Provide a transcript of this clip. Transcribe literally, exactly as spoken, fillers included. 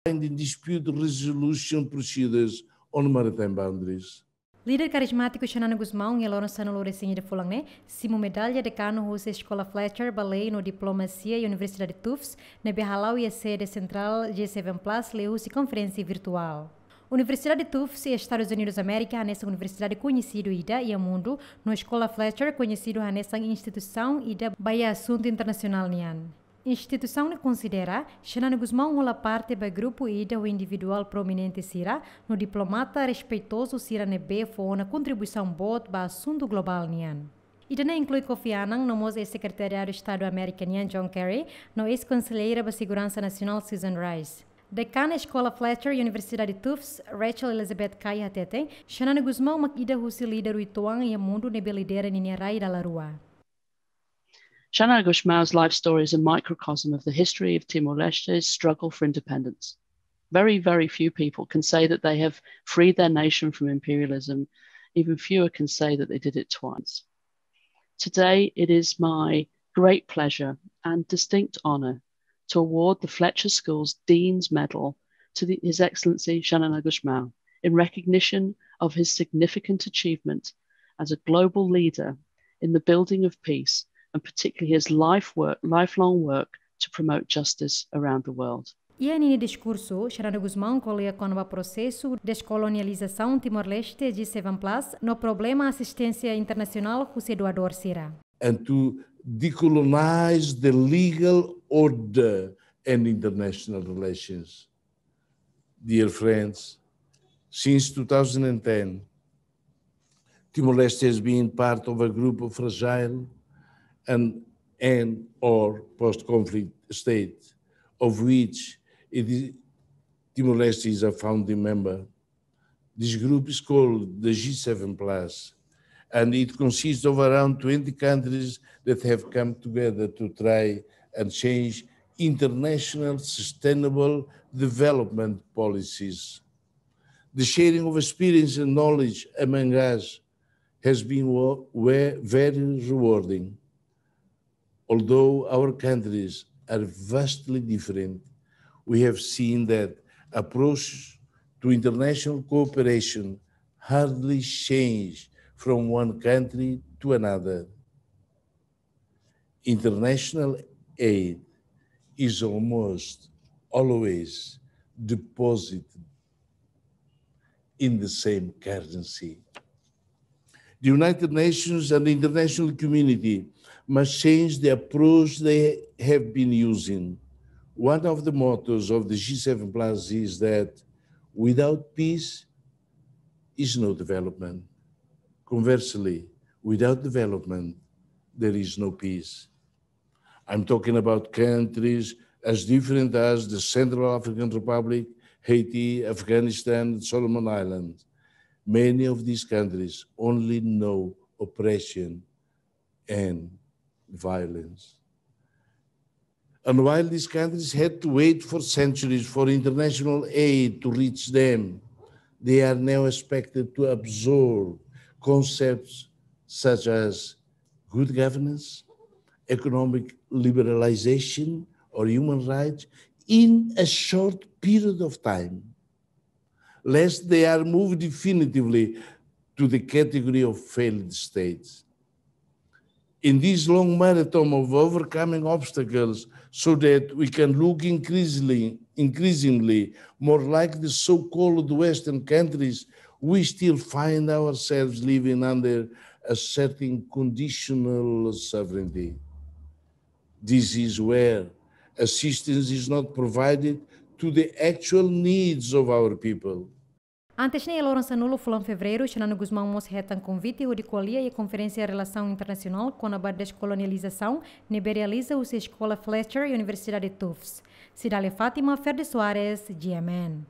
binding dispute resolution procedures on maritime boundaries. Líder karizmátiku Xanana Gusmão iha loron sanulu-resin-ida fulan ne'e simu medalla dekanu husi Eskola Fletcher ba Lei no Diplomasia iha Universidade Tufts, ne'ebé hala'o iha sede sentrál G seven Plus liuhusi konferénsia virtuál. Universidade Tufts iha Estadus Unidus Amérika hanesan universidade koñesidu ida iha mundu, no Eskola Fletcher koñesidu hanesan instituisaun ida ba iha asuntu internasionál nian. Instituisaun ne'e konsidera Xanana Gusmão hola parte ba grupu ida ho individuál prominente sira no diplomata respeitozu sira ne'ebé fó ona kontribuisaun boot ba asuntu globál nian. Ida-ne'e inklui Kofi Annan no mós eis-sekretariadu Estadu Amérika nian John Kerry no eis-konselleira ba seguransa nasionál Susan Rice. Dekana Eskola Fletcher Universidade Tufts, Rachel Elizabeth Kay hateten, Xanana Gusmão mak ida husi líder uitoan iha mundu ne'ebé lidera ninia rai dala rua. Xanana Gusmão's life story is a microcosm of the history of Timor-Leste's struggle for independence. Very, very few people can say that they have freed their nation from imperialism. Even fewer can say that they did it twice. Today, it is my great pleasure and distinct honor to award the Fletcher School's Dean's Medal to the, His Excellency Xanana Gusmão in recognition of his significant achievement as a global leader in the building of peace, and particularly his life work, lifelong work to promote justice around the world. Iha ninia diskursu, Xanana Gusmão ko'alia kona-ba prosesu deskolonializasaun Timor-Leste G seven Plus no problema asisténsia internasionál husi doadór sira. And to decolonize the legal order and international relations. Dear friends, since two thousand and ten, Timor-Leste has been part of a group of fragile and, and or post-conflict state, of which it is, Timor-Leste is a founding member. This group is called the G seven Plus, and it consists of around twenty countries that have come together to try and change international sustainable development policies. The sharing of experience and knowledge among us has been wo-, we-, very rewarding. Although our countries are vastly different, we have seen that approach to international cooperation hardly change from one country to another. International aid is almost always deposited in the same currency. The United Nations and the international community must change the approach they have been using. One of the mottos of the G seven Plus is that without peace is no development. Conversely, without development, there is no peace. I'm talking about countries as different as the Central African Republic, Haiti, Afghanistan, and Solomon Islands. Many of these countries only know oppression and violence. And while these countries had to wait for centuries for international aid to reach them, they are now expected to absorb concepts such as good governance, economic liberalization, or human rights in a short period of time, lest they are moved definitively to the category of failed states. In this long marathon of overcoming obstacles, so that we can look increasingly, increasingly more like the so-called Western countries, we still find ourselves living under a certain conditional sovereignty. This is where assistance is not provided to the actual needs of our people. Antes ne'e, loron sanulu fulan Fevereiru, Xanana Gusmão mós hetan konvite hodi ko'alia iha konferénsia relasaun internasionál kona-ba deskolonializasaun ne'ebé realiza husi Eskola Fletcher Universidade Tufts. Cidália Fátima, Ferdi Soares, G M N.